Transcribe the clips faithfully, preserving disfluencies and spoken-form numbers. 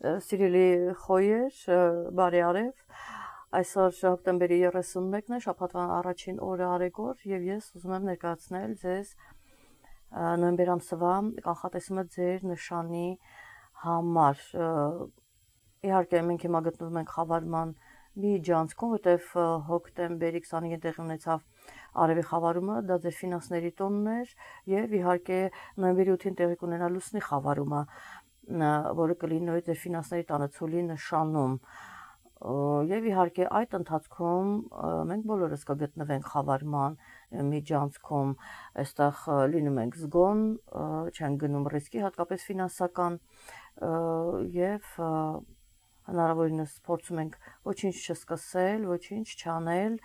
Սիրելի խոյեր, բարի արև, այսօր հոկտեմբերի երեսունմեկն է, շաբաթվա առաջին օրը արեգոր և ես ուզում եմ ներկայացնել ձեզ նոյեմբեր ամսվա կանխատեսումը ձեր նշանի համար։ Իհարկե մենք հիմա գտնվում ենք խավարման միջանցքում, որտեվ հոկտեմբերի քսանինը տեղի ունեցավ արևի խավարումը, դա ձեր ֆինանսների տոնն էր և իհարկե նոյեմբերի ութին տեղի կունենա լուսնի խավարումը, որը կլինի նույն ձեր ֆինանսների տանը ցուլի նշանում։ Եվ իհարկե այդ ընթացքում մենք բոլորս կգտնվենք խավարման միջանցքում, այստեղ լինում ենք զգոն, չենք գնում ռիսկի, հատկապես ֆինանսական, և հնարավորինս փորձում ենք ոչինչ չսկսել, ոչինչ չանել,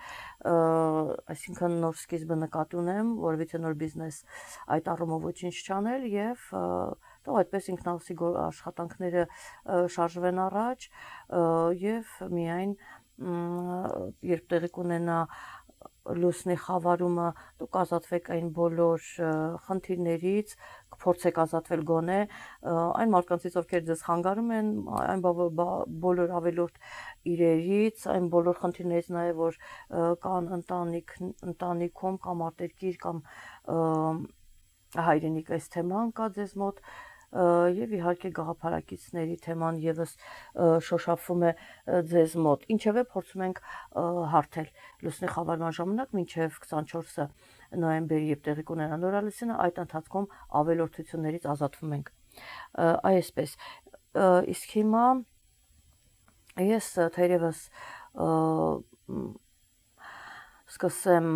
այսինքն նոր սկիզբը նկատի ունեմ, որովհետեւ նոր բիզնես այդ առումով ոչինչ չանել եւ թող այդպես ինքնահոսի աշխատանքները շարժվեն առաջ եւ միայն երբ տեղի կունենա լուսնի խավարումը, դուք ազատվեք այն բոլոր խնդիրներից, կփորձեք ազատվել գոնե այն մարդկանցից, ովքեր ձեզ խանգարում են, այն բոլոր ավելորդ իրերից, այն բոլոր խնդիրներից նաև, որ կան ընտանիք, ընտանիքում կամ արտերկիր կամ հայրենիք այս թեման կա ձեզ մոտ և իհարկե գաղափարակիցների թեման եւս շոշափվում է ձեզ մոտ։ Ինչևէ փորձում ենք հարթել լուսնի խավարման ժամանակ մինչև քսանչորսը նոյեմբերի երբ տեղի կունենա նորալուսինը, այդ ընթացքում ավելորդություններից ազատվում ենք։ Այսպես, իսկ հիմա ես թերևս սկսեմ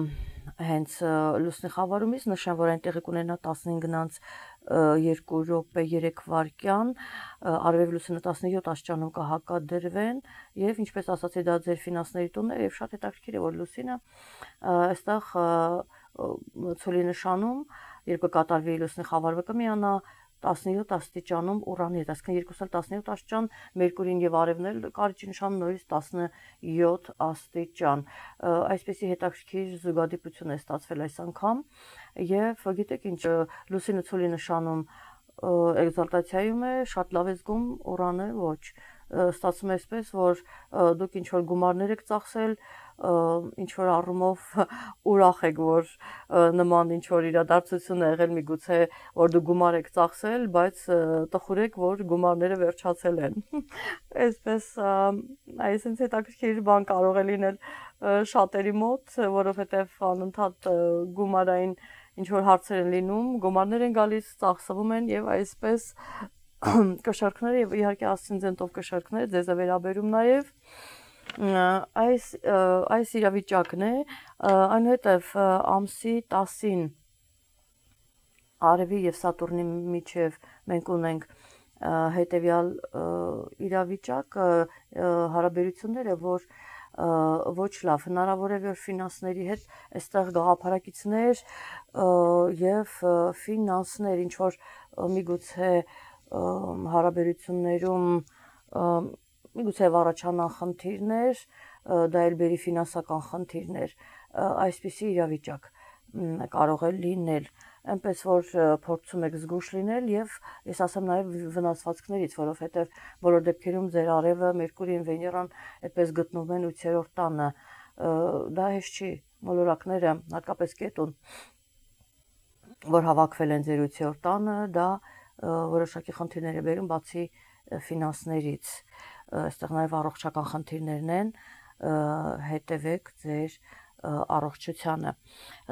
հենց լուսնի խավարումից, նշեմ, որ այն տեղի կունենա տասնհինգ երկու րոպե երեք վայրկյան, արևի լուսինը տասնյոթ աստիճանում կհակադրվեն եւ ինչպես ասացի, դա ձեր ֆինանսների տունն է եւ շատ հետաքրքիր է, որ լուսինը այստեղ ցուլի նշանում, երբ կկատարվի լուսնի խավարումը կմիանա տասնյոթ աստիճանում Ուրանի հետ, այսինքն երկուսն էլ տասնյոթ աստիճան, Մերկուրին եւ Արևն էլ կարիճի նշանում նույնիսկ տասնյոթ աստիճան։ Այսպեսի հետաքրքիր զուգադիպություն է ստացվել այս անգամ եւ գիտեք ինչ, լուսինը ցուլի նշանում էկզալտացիայում է, շատ լավ է զգում, Ուրանը ոչ։ Ստացվում է այսպես, որ դուք ինչ որ գումարներ եք ծախսել, ինչ որ առումով ուրախ եք, որ նման ինչ որ իրադարձություն է եղել, միգուցե որ դուք գումար եք ծախսել, բայց տխուր եք, որ գումարները վերջացել են։ Այսպես այսինքն հետաքրքիր բան կարող է լինել շատերի մոտ, որովհետև անընդհատ գումարային ինչ որ հարցեր են լինում, գումարներ են գալիս, ծախսվում են եւ այսպես կշարքները եւ իհարկե ասցենտով կշարքները ձեզ է վերաբերում նաեւ այս այս իրավիճակն է, այնուհետև ամսի տասին Արևի եւ Սատուրնի միջև մենք ունենք հետեւյալ իրավիճակ, հարաբերությունները, որ ոչ լավ, հնարավոր է որ ֆինանսների հետ այստեղ գաղափարակիցներ եւ ֆինանսներ, ինչ որ միգուցե հարաբերություններում միգուցե առաջանան խնդիրներ, դա էլ բերի ֆինանսական խնդիրներ, այսպիսի իրավիճակ կարող է լինել, այնպես որ փորձում եք զգույշ լինել եւ ես ասեմ նաեւ վնասվածքներից, որովհետեւ բոլոր դեպքերում ձեր արևը, Մերկուրին, Վեներան այդպես գտնվում են ութերորդ տանը, դա հեշտ չի, մոլորակները, հատկապես Կետուն, որ հավաքվել են ձեր ութերորդ տանը, դա որոշակի խնդիրներ է բերում բացի ֆինանսներից, այստեղ նաև առողջական խնդիրներն են, հետևեք ձեր առողջությանը։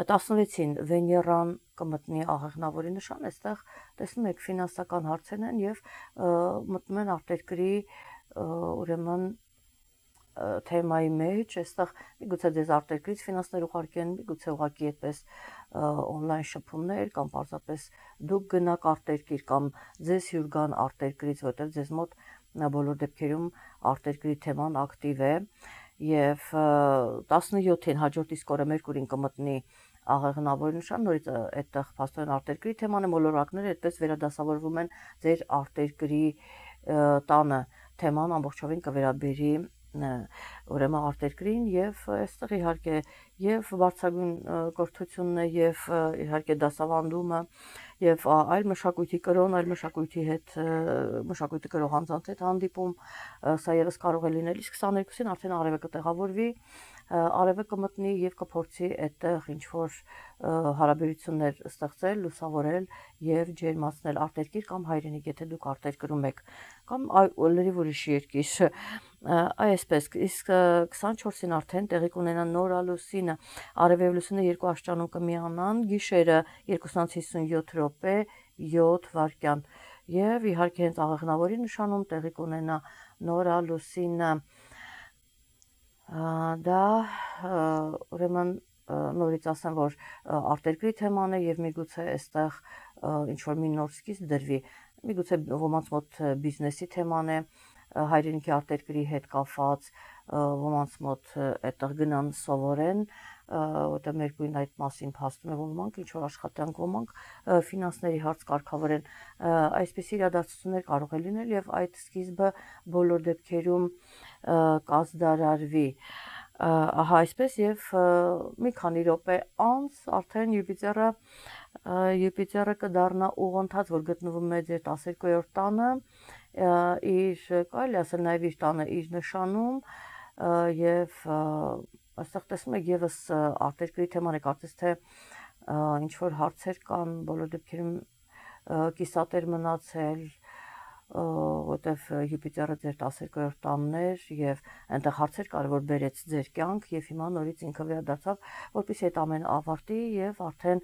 տասնվեցին Վեներան կմտնի աղեղնավորի նշան, այստեղ տեսնում եք ֆինանսական հարցեր են եւ մտնում են արտերկրի ուրեմն թեմայի մեջ, այստեղ միգուցե ձեզ արտերկրից ֆինանսներ ուղարկեն, միգուցե ուղղակի այդպես on-line շփումներ կամ պարզապես դուք գնաք արտերկիր կամ ձեզ հյուր գան արտերկրից, որտեղ ձեզ մոտ բոլոր դեպքերում արտերկրի թեման ակտիվ է եւ տասնյոթին հաջորդ իսկ օրը Մերկուրին կմտնի աղեղնավորի նշան, նորից այդտեղ փաստորեն արտերկրի թեման է, մոլորակները այդպես վերադասավորվում են ձեր արտերկրի տանը, թեման ամբողջովին կվերաբերի ուրեմն արտերկրին եւ այստեղ իհարկե եւ բարձրագույն կրթությունն է եւ իհարկե դասավանդումը եւ այլ մշակույթի կրոն, այլ մշակույթի հետ մշակույթի կրող անձանց հետ հանդիպում, սա եւս կարող է լինել, իսկ քսաներկուսին արդեն արևը կտեղավորվի, արևը կմտնի եւ կփորձի այդտեղ ինչ որ հարաբերություններ ստեղծել, լուսավորել եւ ջերմացնել արտերկիր կամ հայրենիք, եթե դուք արտերկրում եք, կամ լրիվ ուրիշ երկիր, այսպես, իսկ քսանչորսին արդեն տեղի կունենա նորալուսինը, արև եւ լուսինը երկու աշճանում կմիանան, գիշերը երկուսից հիսունյոթ րոպե յոթ վայրկյան, եւ իհարկե հենց աղեղնավորի նշանում տեղի կունենա նորալուսինը, դա ուրեմն նորից ասեմ, որ արտերկրի թեման է եւ միգուցե այստեղ ինչ որ մի նոր սկիզբ դրվի, միգուցե ոմանց մոտ բիզնեսի թեման է, հայրենիքի արտերկրի հետ կապված, ոմանց մոտ այդտեղ գնան սովորեն, որտեղ մեր գույն այդ մասին փաստում է, ոմանք ինչ որ աշխատանք, ոմանք ֆինանսների հարց կարգավորեն, այսպես իրադարձություններ կարող է լինել եւ այդ սկիզբը բոլոր դեպքերում կազդարարվի, ահա այսպես եւ մի քանի րոպե անց արդեն Յուպիտերը Յուպիտերը կդառնա ուղղընթաց, որ գտնվում է ձեր տասներկուերորդ տանը, իր կարելի ասել նաեւ իր տանը իր նշանում եւ այստեղ տեսնում եք եւս արտերկրի թեման է, կարծես թե ինչ որ հարցեր կան, բոլոր դեպքերում կիսատեր մնացել, որտեվ Յուպիտերը ձեր տասներկուերորդ տանն էր եւ այնտեղ հարցեր կար, որ բերեց ձեր կյանք եւ հիմա նորից ինքը վերադարձավ, որպեսզի այդ ամենը ավարտի եւ արդեն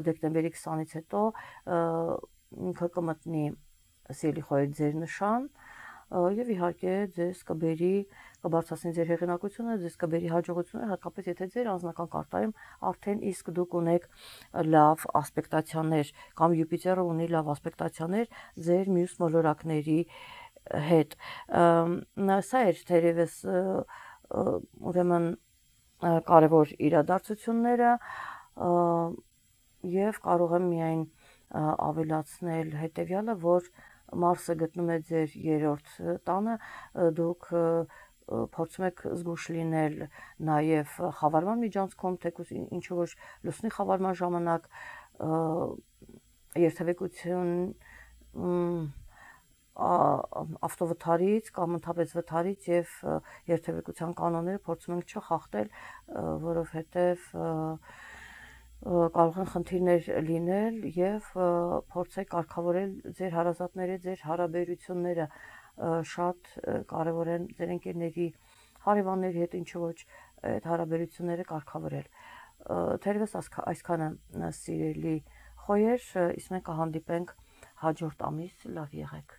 դեկտեմբերի քսանից հետո ինքը կմտնի սիրելի խոհեր ձեր նշան եւ իհարկե ձեզ կբերի, կբարձրացնի ձեր հեղինակությունը, ձեզ կբերի հաջողությունը, հատկապես եթե ձեր անձնական կարտայում արդեն իսկ դուք ունեք լավ ասպեկտացիաներ կամ Յուպիտերը ունի լավ ասպեկտացիաներ ձեր մյուս մոլորակների հետ, սա էր թերևս ուրեմն կարևոր իրադարձությունները եւ կարող եմ միայն ավելացնել հետեւյալը, որ Մարսը գտնում է ձեր երրորդ տանը, դուք փորձում եք զգույշ լինել նաև խավարման միջանցքում, թեկուզ ինչ որ լուսնի խավարման ժամանակ երթևեկություն ավտովթարից կամ ընդհանրապես վթարից եւ երթևեկության կանոնները փորձում ենք չխախտել, որովհետեւ կարող են խնդիրներ լինել եւ փորձեք կարգավորել ձեր հարազատների, ձեր հարաբերությունները, շատ կարևոր են ձեր ընկերների, հարևանների հետ ինչ ոչ այդ հարաբերությունները կարգավորել, թերևս այսքանը սիրելի խոհեր, իսկ մենք կհանդիպենք հաջորդ ամիս, լավ եղեք։